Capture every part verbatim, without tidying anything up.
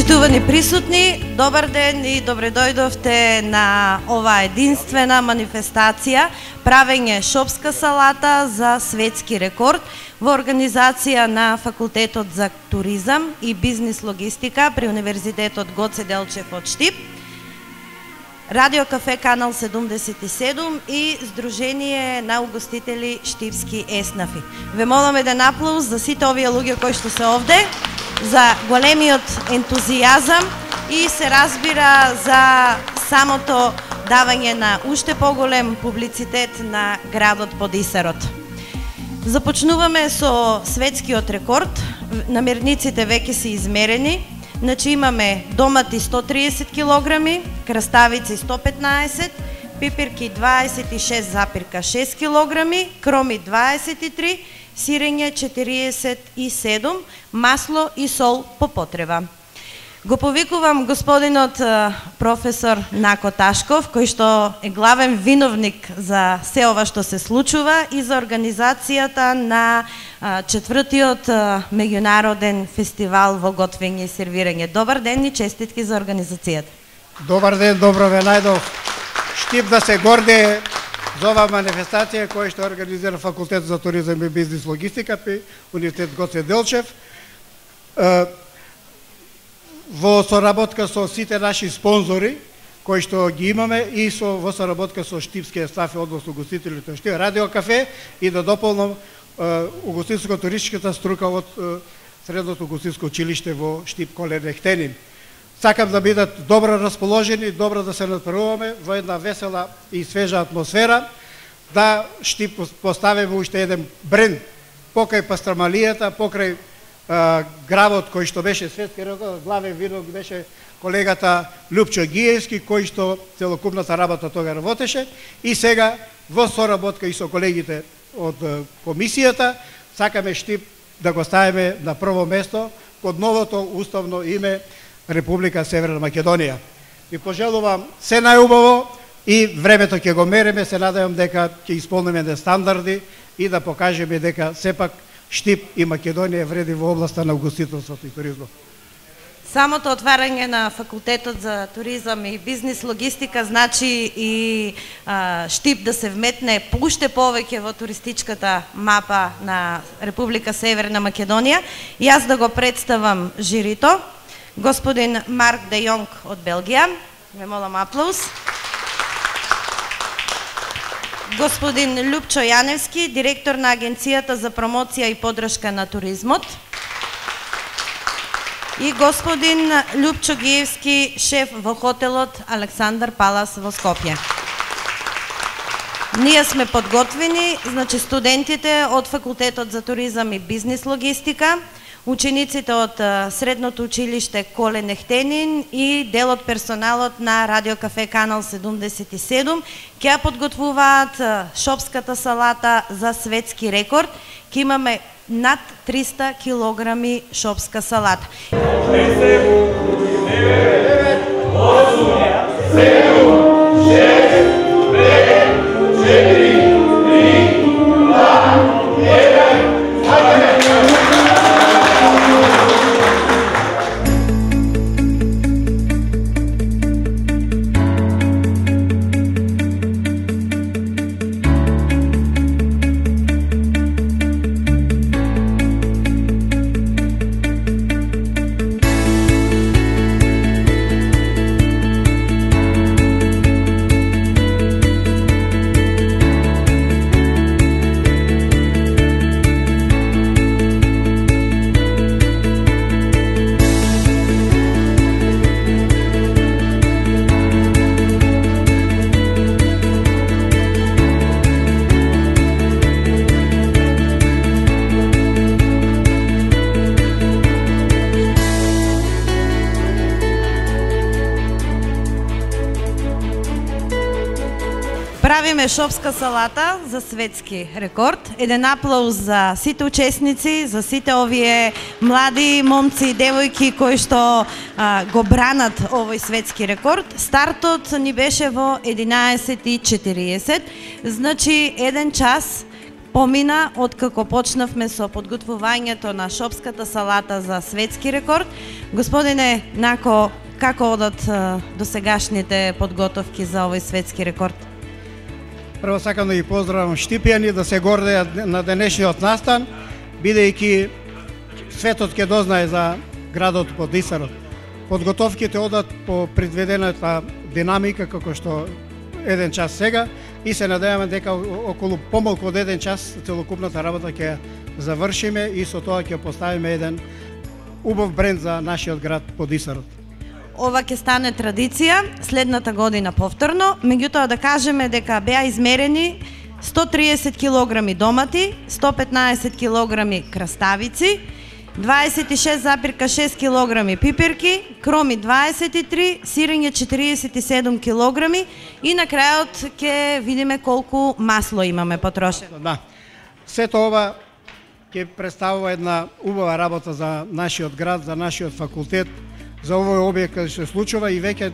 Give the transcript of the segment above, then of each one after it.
Почитувани присутни, добар ден и добре дојдовте на оваа единствена манифестација правење шопска салата за светски рекорд во организација на Факултетот за туризам и бизнис логистика при Универзитетот Гоце Делчев од Штип, Радио Кафе Канал седумдесет и седум и Сдружение на угостители Штипски еснафи. Ве молам еден аплауз за сите овие луѓе кои што се овде, за големиот ентузијазам и се разбира за самото давање на уште поголем публицитет на градот под Исарот. Започнуваме со светскиот рекорд. Намерниците веќе се измерени. Значи имаме домати сто триесет килограми, краставици сто петнаесет, пипирки дваесет и шест запирка шест килограми, кроми дваесет и три, сирење четириесет и седум, масло и сол по потреба. Го повикувам господинот професор Нако Ташков, кој што е главен виновник за се ова што се случува и за организацијата на четвртиот меѓународен фестивал во готвење и сервирање. Добар ден и честитки за организацијата. Добар ден, добро ве најдов. Штип да се горде за оваа манифестација која што организира Факултет за туризам и бизнис логистика при Универзитет Гоце Делчев. Во соработка со сите наши спонзори кои што ги имаме и со во соработка со штипските стафи, односно угостителите Штип, Радио Кафе и да дополнам угостителско-туристичката струка од Средното угостителско училиште во Штип Колен Ехтенин. Сакам да бидат добро расположени, добро да се натпревуваме во една весела и свежа атмосфера, да Штип поставиме уште еден бренд покрај пастрамалијата, покрај а, гравот кој што беше светски рекорд, главен винок беше колегата Лјупчо Гиевски, кој што целокупната работа тога работеше, и сега во соработка и со колегите од комисијата сакаме Штип да го ставиме на прво место под новото уставно име Република Северна Македонија. Ви пожелувам се најубаво и времето ќе го мериме, се надевам дека ќе исполниме де стандарди и да покажеме дека сепак Штип и Македонија вреди во областа на угостителството и туризмот. Самото отварање на Факултетот за туризам и бизнис логистика значи и а, Штип да се вметне уште повеќе во туристичката мапа на Република Северна Македонија. И јас да го представам жирито. Господин Марк Де Јонг од Белгија. Ве молам аплауз. Господин Лјупчо Јаневски, директор на Агенцијата за промоција и поддршка на туризмот. И господин Лјупчо Гиевски, шеф во хотелот Александар Палас во Скопје. Ние сме подготвени, значи студентите од Факултетот за туризам и бизнис логистика, учениците од Средното училиште Колен Ехтенин и дел од персоналот на Радио Кафе Канал седумдесет и седум ќе ја подготвуваат шопската салата за светски рекорд. Ќе имаме над триста килограми шопска салата. Правиме шопска салата за светски рекорд. Еден аплауз за сите учесници, за сите овие млади момци и девојки кои што а, го бранат овој светски рекорд. Стартот ни беше во единаесет и четириесет, значи еден час помина откако почнавме со подготвувањето на шопската салата за светски рекорд. Господине Нако, како одат досегашните подготовки за овој светски рекорд? Прво сакам да ги поздравам Штипјани, да се гордеат на денешниот настан, бидејќи светот ќе дознае за градот Подисарот. Подготовките одат по предвидената динамика, како што еден час сега, и се надеваме дека околу помалку од еден час целокупната работа ќе завршиме и со тоа ќе поставиме еден убав бренд за нашиот град Подисарот. Ова ќе стане традиција следната година повторно, меѓутоа да кажеме дека беа измерени сто триесет килограми домати, сто петнаесет килограми краставици, дваесет и шест запирка шест килограми пиперки, кроми дваесет и три, сирење четириесет и седум килограми и на крајот ќе видиме колку масло имаме потрошено. Да. Сето ова ќе представува една убава работа за нашиот град, за нашиот факултет, за овој објект каде се случува и веќе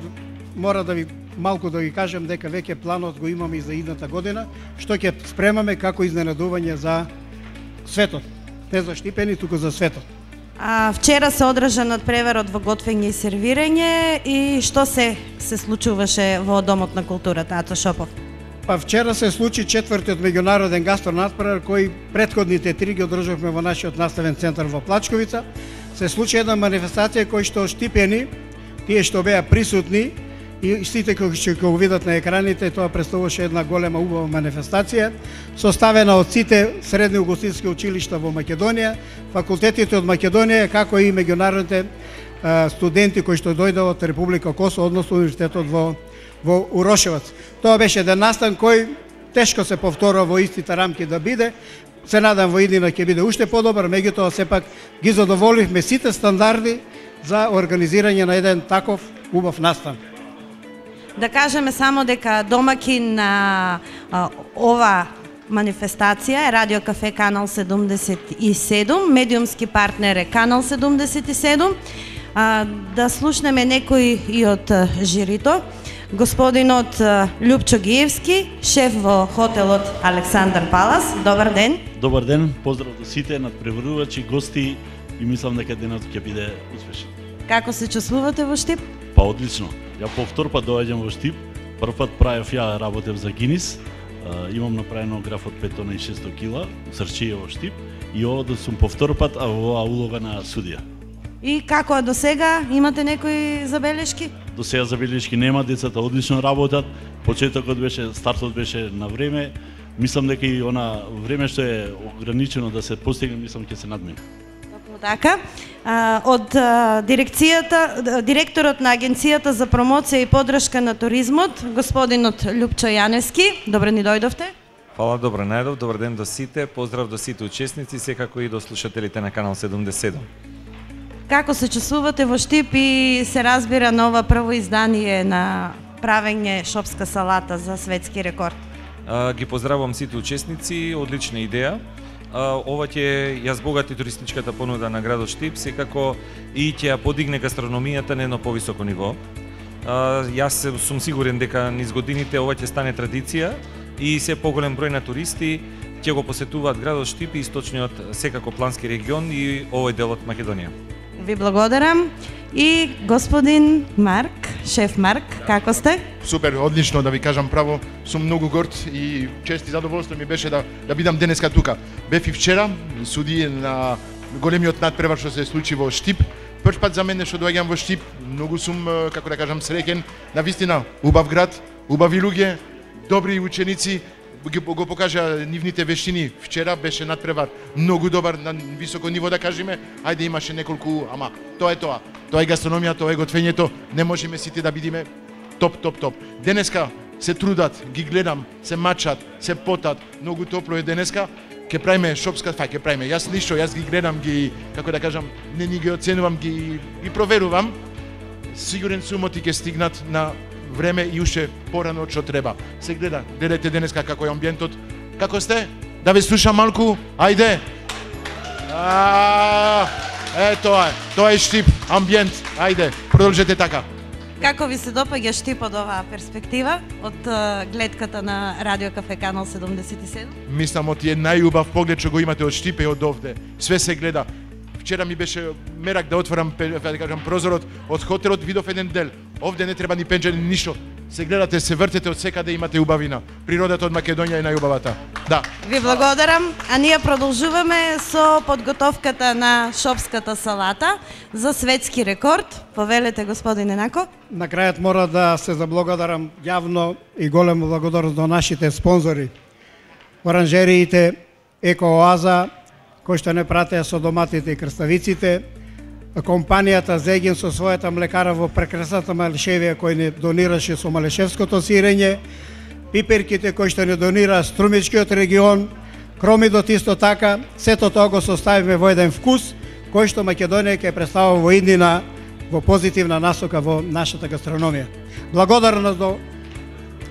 мора да ви малку да ви кажем дека веќе планот го имаме и за идната година, што ќе спремаме како изненадување за светот. Не за Штипени, туку за светот. А, вчера се одржа надпреварот во готвење и сервирање и што се се случуваше во Домот на културата, Ато Шопов? Па вчера се случи четвртиот меѓународен гастронадпревар кој претходните три ги одржавме во нашиот наставен центар во Плачковица. Се случи една манифестација кој што Штипени, тие што беа присутни и сите кои ќе го видат на екраните, тоа представуваше една голема убава манифестација, составена од сите средни ugostiteljски училишта во Македонија, факултетите од Македонија, како и меѓународните студенти кои што дојдоа од Република Косово, односно универзитетот во во Урошевац. Тоа беше еден настан кој тешко се повторува во истите рамки да биде. Се надам во иднина ќе биде уште подобар, меѓутоа сепак ги задоволивме сите стандарди за организирање на еден таков убав настан. Да кажеме само дека домакин на а, ова манифестација е Радио Кафе Канал седумдесет и седум, медиумски партнер е Канал седумдесет и седум. А, да слушнеме некои и од жирито. Господинот Љупчо Гиевски, шеф во хотелот Александар Палас. Добар ден. Добар ден, поздрав до сите надпреварувачи, гости и мислам дека денот ќе биде успешен. Како се чувствувате во Штип? Па одлично. Ја по втор пат доаѓам во Штип. Прв пат правев ја работев за Гинис. Имам направено граф од пет тони и шесто кила, срчие во Штип. И ова да сум по втор пат, а во улога на судија. И како е до сега? Имате некои забелешки? До сега забелешки нема, децата одлично работат. Почетокот беше, стартот беше на време. Мислам дека и она време што е ограничено да се постигне, мислам ќе се надмине. Токму така. А, од а, дирекцијата, директорот на Агенцијата за промоција и поддршка на туризмот, господинот Љупчо Јаневски, добро ни дојдовте. Фала, добро најдов, добар ден до сите, поздрав до сите учесници, секако и до слушателите на Канал седумдесет и седум. Како се чувствувате во Штип и се разбира на ова прво издание на правење шопска салата за светски рекорд? А, ги поздравувам сите учесници, одлична идеја. А, ова ќе ја збогати туристичката понуда на градот Штип, секако и ќе ја подигне гастрономијата на едно повисоко ниво. А, јас сум сигурен дека низ годините ова ќе стане традиција и се поголем број на туристи ќе го посетуваат градот Штип и источниот секако плански регион и овој дел од Македонија. Ви благодарам. И господин Марк, шеф Марк, како сте? Супер, одлично, да ви кажам право, сум многу горд и чест и задоволство ми беше да да бидам денеска тука. Бев и вчера, суди на големиот надпревар што се случи во Штип. Прв пат за мене што доаѓам во Штип, многу сум, како да кажам, среќен. Навистина, убав град, убави луѓе, добри ученици, го покажа нивните вештини. Вчера беше надпревар многу добар, на високо ниво да кажеме. Ајде имаше неколку, ама тоа е тоа. Тоа е гастрономија, тоа е готвењето. Не можеме сите да бидиме топ, топ, топ. Денеска се трудат, ги гледам, се мачат, се потат, многу топло е денеска. Ке правиме шопска, фај, ке правиме. Јас ништо, јас ги гледам, ги, како да кажам, не ни ги оценувам, ги, ги проверувам. Сигурен сум оти ке стигнат на време и уште порано од што треба. Се гледа, гледате денеска како е амбиентот. Како сте? Да ве слушам малку? Ајде. А, е тоа е. Тоа е Штип, амбиент. Ајде, продолжете така. Како ви се допаѓа Штип од оваа перспектива, од uh, гледката на Радио Кафе Канал седумдесет и седум? Мислам, од е најубав поглед што го имате од Штип и од овде. Све се гледа. Вчера ми беше мерак да отворам, да кажам, прозорот од хотелот, видов еден дел. Овде не треба ни пенџер, ни ништо. Се гледате, се вртете, од секаде имате убавина. Природата од Македонија е најубавата. Да. Ви благодарам, а ние продолжуваме со подготовката на шопската салата за светски рекорд. Повелете, господине Нако. На крајот мора да се заблагодарам јавно и големо благодарност до нашите спонзори. Оранжериите Екооаза, кои што не пратеа со доматите и крставиците, компанијата Зегин со својата млекара во прекрасната Малешевија кој не донираше со малешевското сирење, пиперките кои што не донира Струмичкиот регион, Кромидот исто така, сето тоа го составиме во еден вкус кој што Македонија ќе представува во иднина во позитивна насока во нашата гастрономија. Благодарност до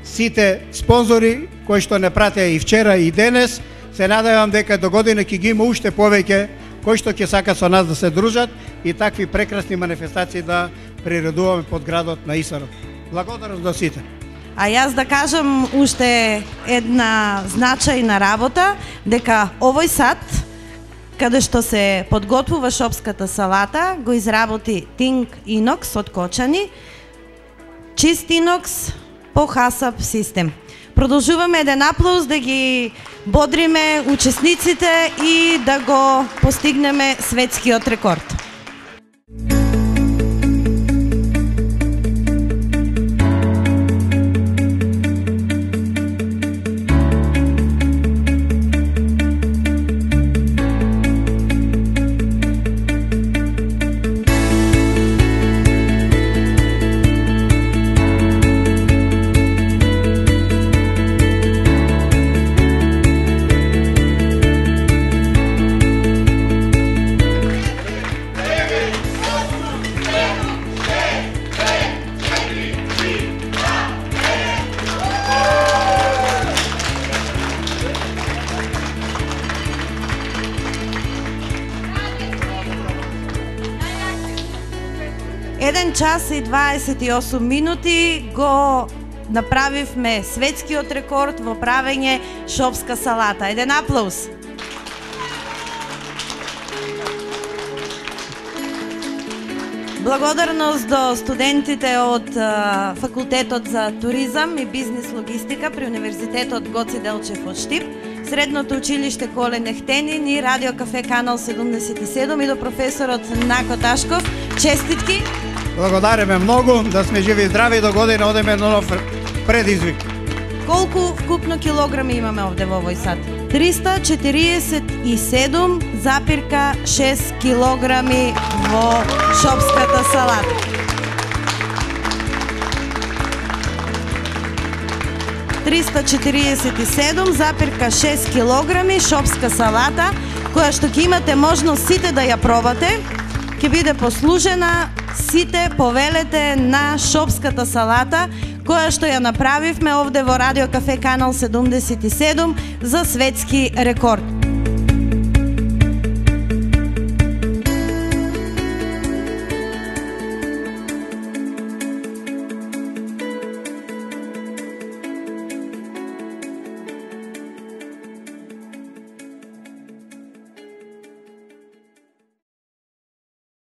сите спонзори кои што не пратеа и вчера и денес. Се надевам дека до година ќе ги има уште повеќе кои што ќе сакат со нас да се дружат и такви прекрасни манифестации да приредуваме под градот на Исарот. Благодарност до сите. А јас да кажам уште една значајна работа, дека овој сад, каде што се подготвува шопската салата, го изработи Тинг Инокс од Кочани, чист инокс по хасап систем. Продолжуваме еден аплауз да ги бодриме учесниците и да го постигнеме светскиот рекорд. еден час и дваесет и осум минути го направивме светскиот рекорд во правење шопска салата. Еден аплауз. Благодарност до студентите од uh, Факултетот за туризам и бизнес логистика при Универзитетот Гоце Делчев од Штип, Средното училиште Коле Нехтенин и Радио Кафе Канал седумдесет и седум и до професорот Нако Ташков. Честитки! Благодариме многу, да сме живи и здрави, до година одеме на нов предизвик. Колку вкупно килограми имаме овде во овој сад? триста четириесет и седум запирка шест килограми во шопската салата. триста четириесет и седум запирка шест килограми шопска салата, која што ќе имате можност сите да ја пробате, ќе биде послужена. Сите повелете на шопската салата, која што ја направивме овде во Радио Кафе Канал седумдесет и седум за светски рекорд.